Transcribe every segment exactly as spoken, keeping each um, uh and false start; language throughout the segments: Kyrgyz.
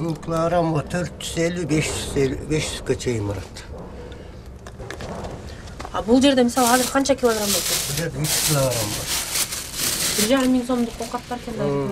бул килограммга төрт жүз элүү беш жүзгө чейин барат. А бул жерде мисалы азыр канча килограмм экен? Бул жерде үч килограмм бар. бир жарым миң сомдук овкат бар экен да бул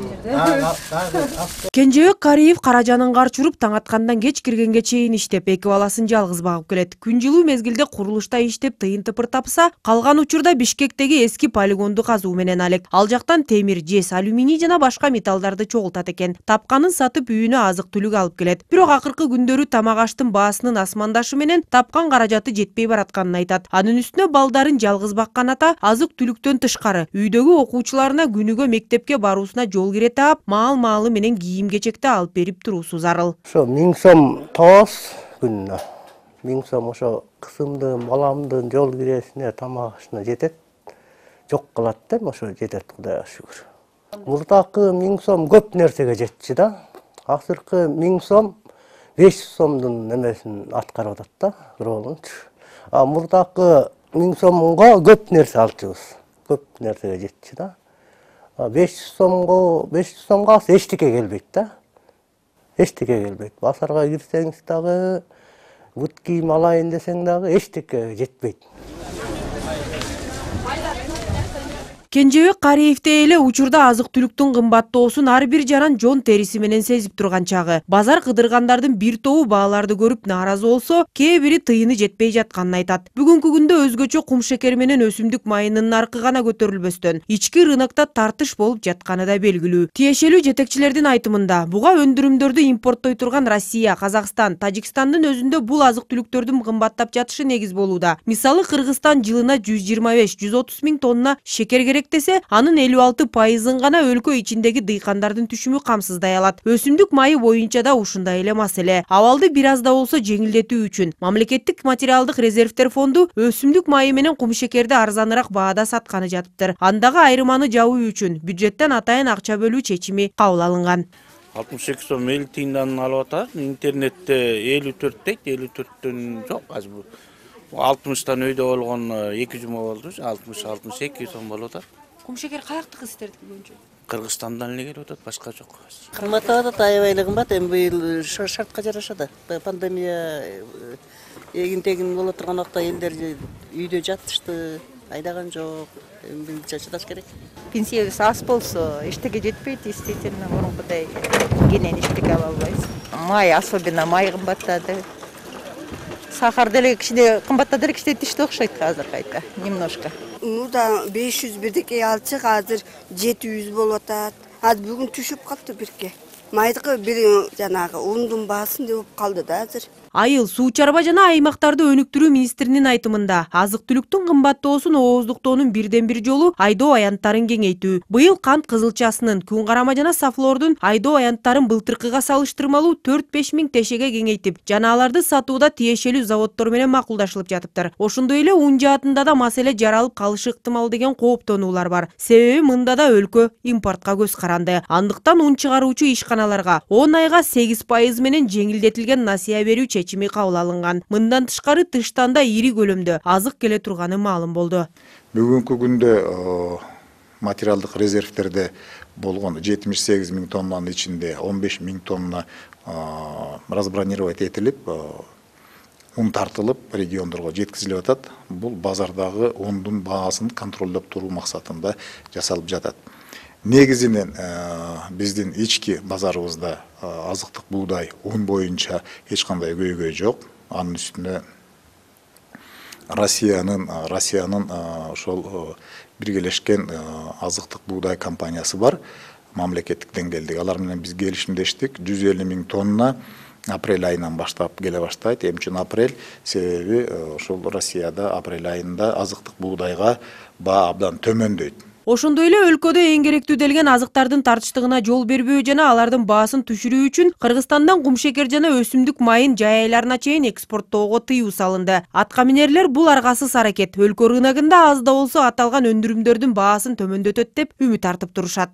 жерде. Кенжебек Кариев Каражанын карчы уруп таң аткандан кеч киргенге чейин иштеп, эки баласын жалгыз багып келет. Күн жылуу мезгилде курулушта иштеп тыйын тыпыр тапса, калган учурда Бишкектеги эски полигонду казуу менен алек. Ал жактан темир, жез, алюминий жана башка металлдарды чогултат экен. Тапканын сатып үйүнө азык-түлүк алып келет. Бирок акыркы күндөрү тамак аштын баасынын асмандашы менен тапкан каражаты жетпей баратканын айтат. Анын үстүнө балдарын жалгыз баккан ата азык-түлүктөн тышкары үйдөгү окуучуларына күнүгө мектепке баруусуна жол кире таап, маал-маалы менен кийим-кечекти алып берип туруусу зарыл. Ошо миң сом табабыз күнүнө. миң сом ошо кызымдын, баламдын жол киресине, тамак ашына жетет. Жок калат да, ошо жетет, Кудайга шүгүр. Мурдакы миң сом көп нерсеге жетчи да. Азыркы миң сом беш жүз сомдун немесин аткарып атат да, ролунчу. А мурдакы миң сомго көп нерсе алчубуз. Көп нерсеге жетчи да. беш жүз сомго, беш жүз сомго эчтеке келбейт да. Эчтеке келбейт. Базарга кирсеңиз дагы, бут кийим алайын десең дагы эчтеке жетпейт. Кенжебек Кариевде эле учурда азык-түлүктүн кымбаттоосун ар бир жаран жон териси менен сезип турган чагы. Базар кыдыргандардын бир тобу бааларды көрүп нааразы болсо, кээ бири тыйыны жетпей жатканын айтат. Бүгүнкү күндө өзгөчө кум шекер менен өсүмдүк майынын наркы гана көтөрүлбөстөн, ички рынокто тартыш болуп жатканы да белгилүү. Тиешелүү жетекчилердин айтымында, буга өндүрүмдөрдү импорттой турган Россия, Казакстан, Тажикстандын өзүндө бул азык-түлүктөрдүн кымбаттап жатышы негиз болууда. Мисалы, Кыргызстан жылына жүз жыйырма беш — жүз отуз миң тонна шекер керек десе, анын элүү алты пайызын гана өлкө ичиндеги дыйкандардын түшүмү камсыздай алат. Өсүмдүк майы боюнча да ушундай эле маселе. Абалды бир аз да болсо жеңилдетүү үчүн Мамлекеттик материалдык резервдер фонду өсүмдүк майы менен кум шекерди арзаныраак баада сатканы жатыптыр. Андагы айырманы жабуу үчүн бюджеттен атайын акча бөлүү чечими кабыл алынган. алтымыш эки сом элүү тыйындан алып атат. Интернетте элүү төрт дейт, элүү төрттөн жок азыр бул. алтымыштан өйдө болгон эки жума болду, алтымыш алтымыш эки сом болуп атат. Кум шекер каяктыкы сиздердики боюнча? Кыргызстандан эле келип атат, башка жок. Кымбаттап атат, аябай эле кымбат. Эми быйыл шартка жараша да. Пандемия эгин-тегин боло турган убакта элдер үйдө жатышты, айдаган жок. Эми бизче чыдаш керек. Пенсиябыз аз болсо, эчтеке жетпейт, действительно, мурункудай кенен эчтеке ала албайбыз. Май, особенно май кымбаттады. Сахар деле кичине кымбаттады эле, кичине түштү окшойт азыр кайта, немножко. Мурда беш жүз бирдеке алчык, азыр жети жүз болуп атат. Азыр бүгүн түшүп калды бирке. Майдыкы бир жанагы ундун баасын деп калды да азыр. Айыл суу чарба жана аймактарды өнүктүрүү министринин айтымында, азык-түлүктүн кымбаттоосун ооздуктоонун бирден бир жолу айдоо аянттарын кеңейтүү. Быйыл кант кызылчасынын, күн карама жана сафлордун айдоо аянттарын былтыркыга салыштырмалуу төрт беш миң тешеге кеңейтип, жана аларды сатууда тиешелүү заводдор менен макулдашылып жатыптыр. Ошондой эле ун жаатында да маселе жаралып калышы ыктымал деген кооптонуулар бар. Себеби мында да өлкө импортко көз каранды. Андыктан ун чыгаруучу ишканаларга он айга сегиз пайыз менен жеңилдетилген насыя берүү чечими кабыл алынган. Мындан тышкары тыштан да ири көлөмдө азык келе турганы маалым болду. Бүгүнкү күндө материалдык резервдерде болгон жетимиш сегиз миң тоннанын ичинде он беш миң тонна разбронировать этилип, ун тартылып региондорго жеткизилип атат. Бул базардагы ундун баасын контролдоп туруу максатында жасалып жатат. Негизинен биздин ички базарыбызда азыктык буудай, ун боюнча эч кандай көйгөй жок. Анын үстүнө Россиянын Россиянын ошол биргелешкен азыктык буудай компаниясы бар, мамлекеттик деңгээлдеги. Алар менен биз келишимдештик. жүз элүү миң тонна апрель айынан баштап келе баштайт. Эмне үчүн апрель? Себеби ошол Россияда апрель айында азыктык буудайга баа абдан төмөндөйт. Ошондой эле өлкөдө эң керектүү делген азыктардын тартыштыгына жол бербөө жана алардын баасын түшүрүү үчүн Кыргызстандан кум шекер жана өсүмдүк майын жай айларына чейин экспорттоого тыюу салынды. Атка минерлер бул аргасыз аракет өлкө рыногунда аз да болсо аталган өндүрүмдөрдүн баасын төмөндөтөт деп үмүт артып турушат.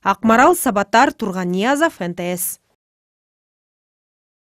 Акмарал Сабаттар, Турган Ниязов, эн тэ эс.